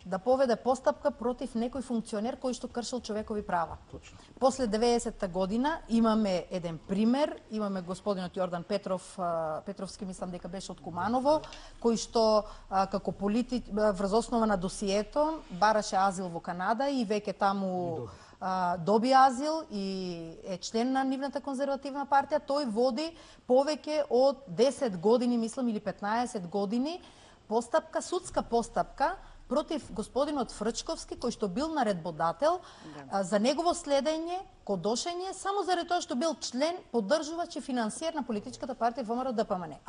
да поведе постапка против некој функционер кој што кршил човекови права. Точно. После 90-та година имаме еден пример, имаме господинот Јордан Петровски, мислам дека беше од Куманово, кој што како врз основа на досието бараше азил во Канада и веќе таму доби азил и е член на нивната конзервативна партија. Тој води повеќе од 10 години, мислам, или 15 години постапка, судска постапка против господинот Фрчковски, кој што бил наредбодател за негово следење, кодошење, само заради тоа што бил член, поддржувач и финансиер на политичката партија ВМРО ДПМН.